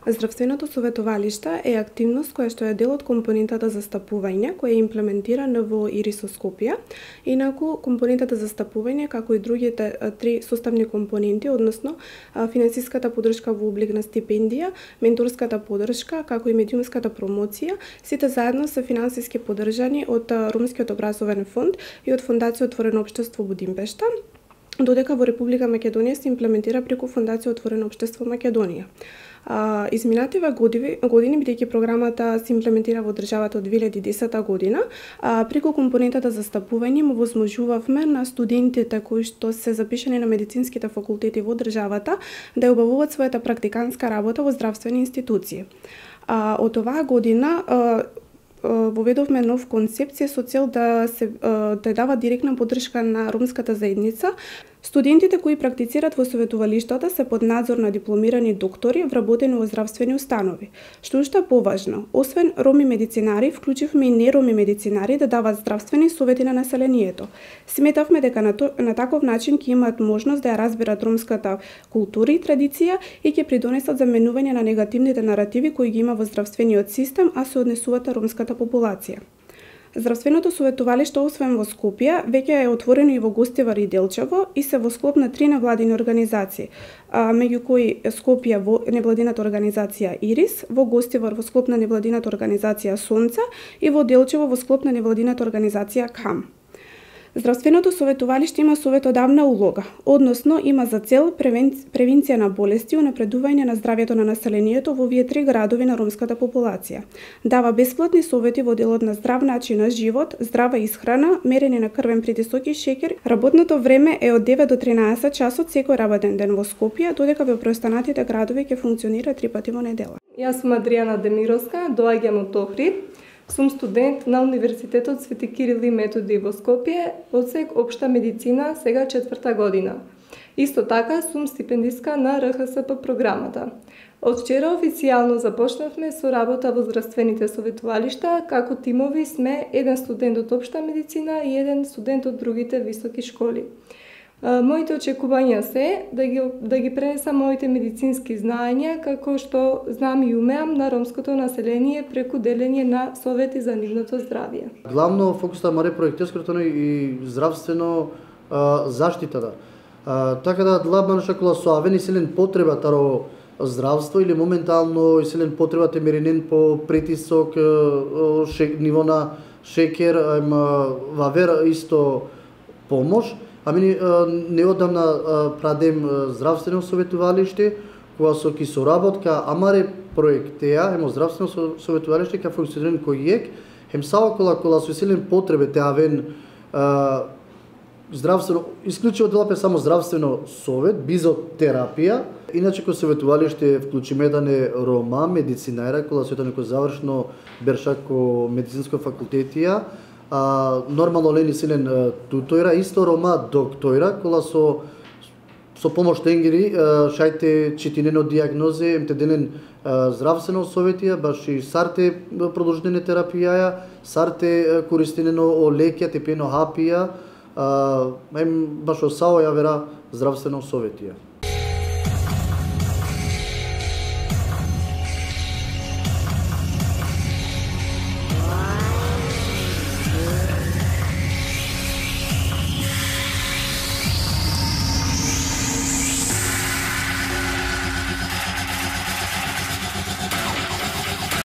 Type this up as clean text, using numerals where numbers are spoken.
Здравственото советувалиште е активност која што е дел од компонентата застапување, која е имплементирана во ИРИС Скопје. Инаку, компонентата застапување, како и другите три составни компоненти, односно финансиската поддршка во облик на стипендија, менторската поддршка, како и медиумската промоција, сите заедно се финансиски поддржани од Ромскиот образовен фонд и од Фондација Отворено општество Будимпешта, додека во Република Македонија се имплементира преку Фондација Отворено општество Македонија. Изминативе години, бидејќи програмата се имплементира во државата од 2010 година, преку компонентата застапување му возможувавме на студентите кои што се запишани на медицинските факултети во државата да ја обавуваат својата практиканска работа во здравствени институции. Од оваа година воведовме нов концепција со цел да дава директна поддршка на ромската заедница. Студентите кои практицират во советувалиштата се под надзор на дипломирани доктори вработени во здравствени установи. Што уште поважно, освен роми медицинари, вклучивме и нероми медицинари да дават здравствени совети на населението. Сметавме дека на таков начин ќе имаат можност да ја разберат ромската култура и традиција и ќе придонесат за менување на негативните наративи кои ги има во здравствениот систем, а се однесуваат на ромската популација. Здравственото советувалиште, освен во Скопје, веќе е отворено и во Гостивар и Делчево и се во склоп на 3 невладини организации, меѓу кои Скопје во невладината организација ИРИС, во Гостивар во склоп на невладината организација Сонце и во Делчево во склоп на невладината организација КАМ. Здравственото советувалиште има советодавна улога, односно има за цел превенција на болести и унапредување на здравјето на населението во овие 3 градови на ромската популација. Дава бесплатни совети во делот на здрав начин на живот, здрава исхрана, мерење на крвен притисок и шеќер. Работното време е од 9 до 13 часот секој работен ден во Скопје, додека во преостанатите градови ќе функционира 3 пати во недела. Јас сум Адријана Демировска, доаѓам од Охрид. Сум студент на Универзитетот Свети Кирил и Методи во Скопје, одсек Општа медицина, сега 4-та година. Исто така сум стипендистка на РХСП програмата. Од вчера официјално започнавме со работа во здравствените советувалишта, како тимови сме еден студент од Општа медицина и еден студент од другите високи школи. Моите очекувања се да ги пренесам моите медицински знаења, како што знам и умеам на ромското население преку делење на совети за нивното здравје. Главно фокусот на проектеското и здравствено заштитата. Така да длабан шакула со авени селен потреба таро здравство или моментално селен потреба те меренен по притисок, ниво на шекер, вавер исто помош. Ами неодамна прадем здравствено советувалиште, кога со ки соработка Амаре проектеа, емо здравствено советувалиште ка функционира кој ек, хем сава кола со силен потребе те авен здравствено, исклучиво делапе само здравствено совет, бизотерапија, иначе кој советувалиште вклучиме дане рома, медицинајра, кола со некој завршно бершако медицинско факултетија, нормално лени силен тутојра, исто рома доктојра, кола со помош тенгери, шајте читинено диагнозе, емте денен здравствено советија, баш и сарте продолжителна терапија, сарте користинено лекја, тепено хапија, баш осао ја вера здравствено советија.